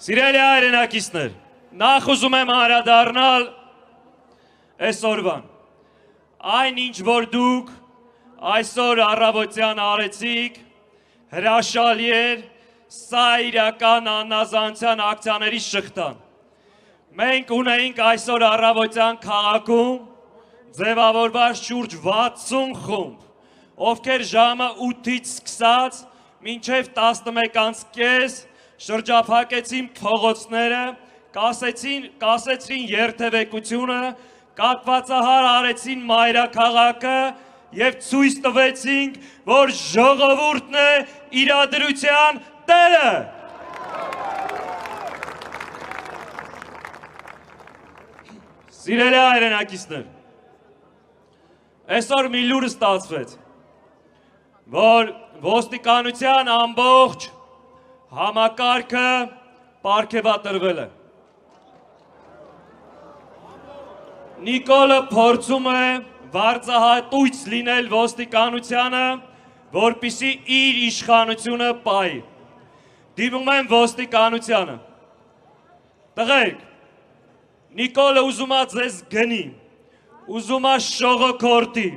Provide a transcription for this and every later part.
Սիրելի հայրենակիցներ, նախ ուզում եմ անդրադառնալ այսօրվան։ Այն ինչ որ դուք այսօր առավոտյան արեցիք, հրաշալի էր, սա իրական աննազանության ակցիաների շղթան։ Մենք ունեինք այսօր առավոտյան քաղաքում ձևավորված շուրջ 60 խումբ, ովքեր ժամը 8-ից սկսած մինչև 11:30 շրջափակեցին փողոցները, կասեցրին երթևեկությունը, կատվածահար արեցին մայրաքաղաքը և ցույց տվեցինք, որ ժողովուրդն է իրադրության տերը։ Սիրելի հայրենակիցներ, այսօր մի լուր ստացվեց, որ ոստիկանության ամբողջ համակարգը պարգևատրվել է։ Նիկոլը փորձում է վարձահատույց լինել ոստիկանությանը, որպեսզի իր իշխանությունը պահի։ Դիմում եմ ոստիկանությանը։ Տղերք, Նիկոլը ուզում է ձեզ գնի, ուզում է շողոքորթի,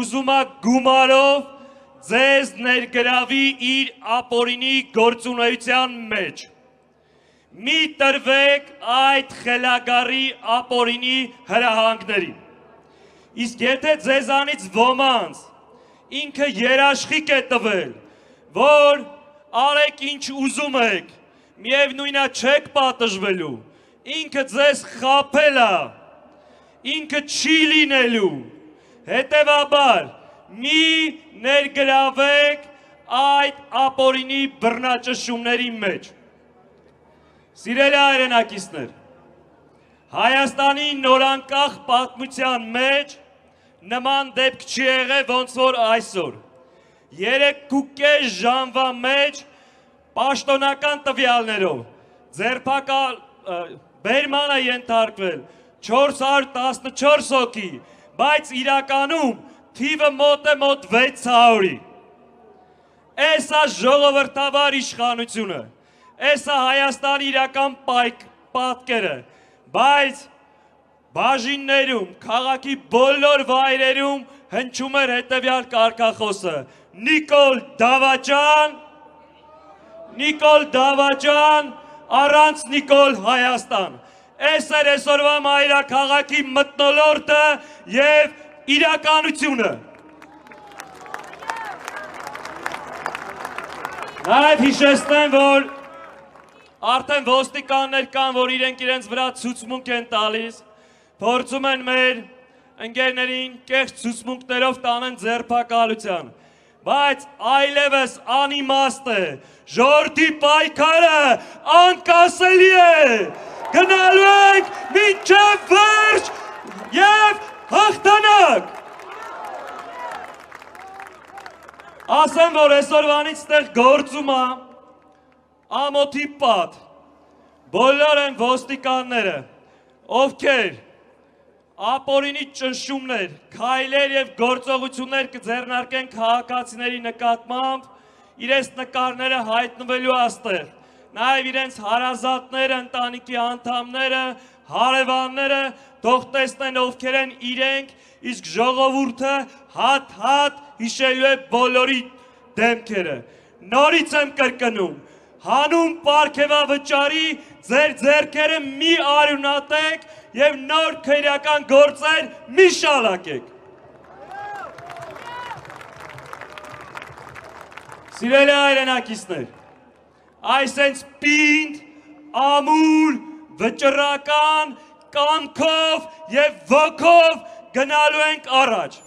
ուզում է գումարով ձեզ ներգրավի իր ապօրինի գործունեության մեջ։ Մի տրվեք այդ խելագարի ապօրինի հրահանգներին։ Իսկ եթե ձեզանից ոմանց ինքը երաշխիք է տվել, որ արեք ինչ ուզում եք, միևնույնն է չեք պատժվելու, ինքը ձեզ խաբել է, ինքը չի լինելու, հետևաբար մի ներգրավեք այդ ապօրինի բռնաճնշումների մեջ։ Սիրելի հայրենակիցներ, Հայաստանի նորանկախ պատմության մեջ նման դեպք չի եղել ոնց որ այսօր։ 3.5 ժամվա մեջ պաշտոնական տվյալներով բերման է ենթարկվել 414 հոգի, բայց իրականում թիվը մոտ է մոտ 600-ի։ Էս է ժողովրդավար իշխանությունը, էս է Հայաստանի իրական պատկերը, բայց բաժիններում, քաղաքի բոլոր վայրերում հնչում էր հետևյալ կարգախոսը. Նիկոլ Դավաճան, առանց Նիկոլ Հայաստան։ Էս էր այսօրվա մայրաքաղաքի մթնոլորտը և իրականությունը։ Նաև հիշեցնեմ, որ արդեն ոստիկաններ կան, որ իրենց վրա ցուցմունք են տալիս, փորձում են մեր ընկերներին կեղծ ցուցմունքներով տանեն ձերբակալության, բայց այլևս անիմաստ է, ժողովրդի պայքարը անկասելի է, գնալու ենք մինչև վերջ և հաղթանակ։ Ասեմ, որ այսօրվանից ստեղ գործում է ամոթի պատ, բոլոր են ոստիկանները, ովքեր ապօրինի ճնշումներ, քայլեր և գործողություններ կձեռնարկեն քաղաքացիների նկատմամբ, իրենց նկարները հայտնվելու աստեղ, նաև իրենց հարազատները, ընտանիքի անդամները, հարևանները թող տեսնեն ովքեր են իրենք, իսկ ժողովուրդը հատ-հատ հիշելու է բոլորի դեմքերը։ Նորից եմ կրկնում, հանուն պարգևավճարի ձեր ձեռքերը մի արյունատեք և նոր քրեական գործեր մի շալակեք։ Սիրելի հայրենակիցներ, այսենց պինդ, ամուր, վճռական, կամքով և ոգով գնալու ենք առաջ։